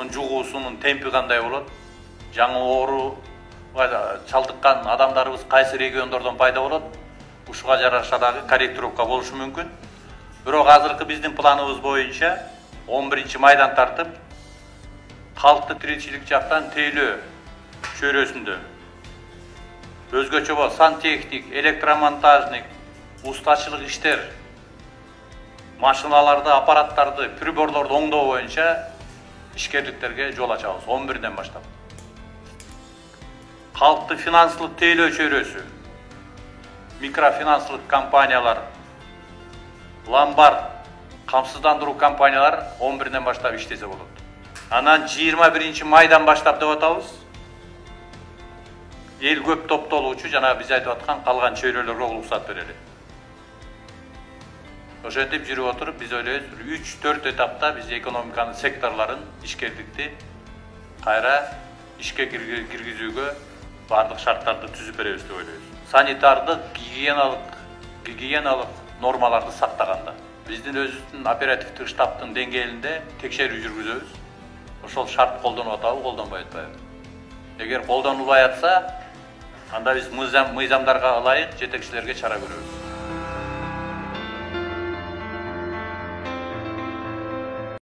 оорунун жугуусунун темпи кандай болот, жаңы ооруга чалдыккан адамдарыбыз кайсы региондордон пайда болот, ушуга жараша дагы корректировка болушу мүмкүн. Бирок азыркы биздин планыбыз боюнча 11-майдан тартып калктык тиричилик жактан тейлөө чөйрөсүндө өзгөчө сантехник, электромонтажник, устачылык иштер, машиналарды, аппараттарды, приборлорду оңдоо боюнча ишкерликтерге жол ачабыз 11-ден баштап. Калктык финансылык тейлөө чөйрөсү, микрофинансылык компаниялар, ломбард, камсыздандыруу компаниялар 11-ден баштап иштесе болот. Анан 21-майдан баштап деп атабыз. Эл көп топтолуучу жана биз айтып аткан калган чөйрөлөргө уруксат берели. Ошентип жүрүп отуруп биз ойлойбуз 3-4 этапта биз экономиканын секторлорун, ишкерликти кайра ишке киргизүүгө бардык шарттарды түзүп беребиз деп ойлойбуз. Санитардык, гигиеналык нормаларды сактаганда биздин өзүбүздүн оперативдик штабтын деңгээлинде текшерүү жүргүзөбүз. Ошол шарт колдонуп атабы, колдонбой атпайбы? Эгер колдонулбай атса, анда биз мыйзамдарга ылайык жетекчилерге чара көрөбүз.